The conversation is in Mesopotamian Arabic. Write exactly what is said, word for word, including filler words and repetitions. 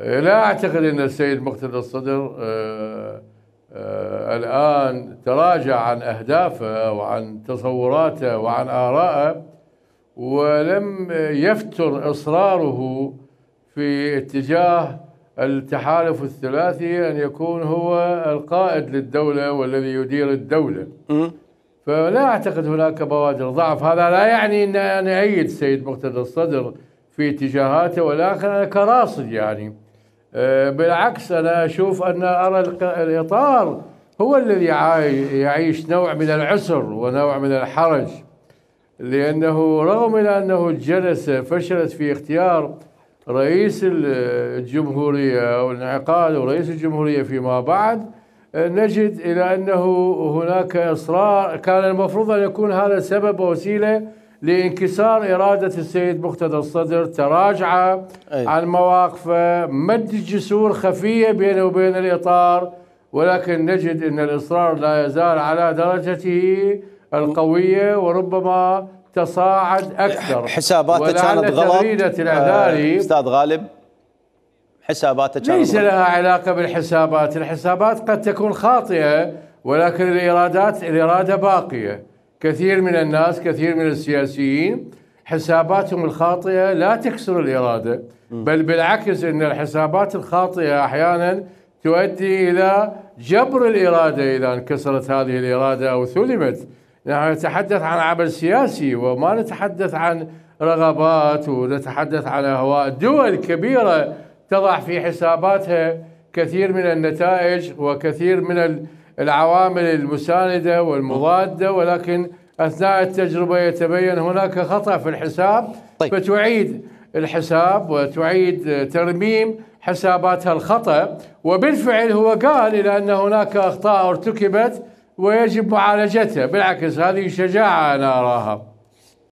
لا أعتقد أن السيد مقتدى الصدر آه آه الآن تراجع عن أهدافه وعن تصوراته وعن آرائه، ولم يفتر إصراره في اتجاه التحالف الثلاثي أن يكون هو القائد للدولة والذي يدير الدولة. فلا أعتقد هناك بوادر ضعف. هذا لا يعني أن أنا أؤيد السيد مقتدى الصدر في اتجاهاته، ولكن أنا كراصد يعني بالعكس أنا أشوف أن أرى الإطار هو الذي يعيش نوع من العسر ونوع من الحرج، لأنه رغم من أنه الجلسة فشلت في اختيار رئيس الجمهورية والانعقاد ورئيس الجمهورية فيما بعد، نجد إلى أنه هناك إصرار. كان المفروض أن يكون هذا سبب ووسيلة لانكسار إرادة السيد مقتدى الصدر، تراجع عن مواقفه، مد جسور خفية بينه وبين الإطار، ولكن نجد أن الإصرار لا يزال على درجته القوية وربما تصاعد أكثر. حساباته كانت غلط الإعذاري أستاذ غالب، حساباته كانت ليس لها علاقة بالحسابات. الحسابات قد تكون خاطئة، ولكن الإرادات الإرادة باقية. كثير من الناس، كثير من السياسيين حساباتهم الخاطئة لا تكسر الإرادة، بل بالعكس أن الحسابات الخاطئة أحيانا تؤدي إلى جبر الإرادة إذا انكسرت هذه الإرادة أو ثلمت. نحن نتحدث عن عمل سياسي وما نتحدث عن رغبات، ونتحدث عن أهواء. دول كبيرة تضع في حساباتها كثير من النتائج وكثير من العوامل المساندة والمضادة، ولكن أثناء التجربة يتبين هناك خطأ في الحساب. طيب. فتعيد الحساب وتعيد ترميم حساباتها الخطأ، وبالفعل هو قال إلى أن هناك أخطاء ارتكبت ويجب معالجتها. بالعكس هذه شجاعة أنا أراها.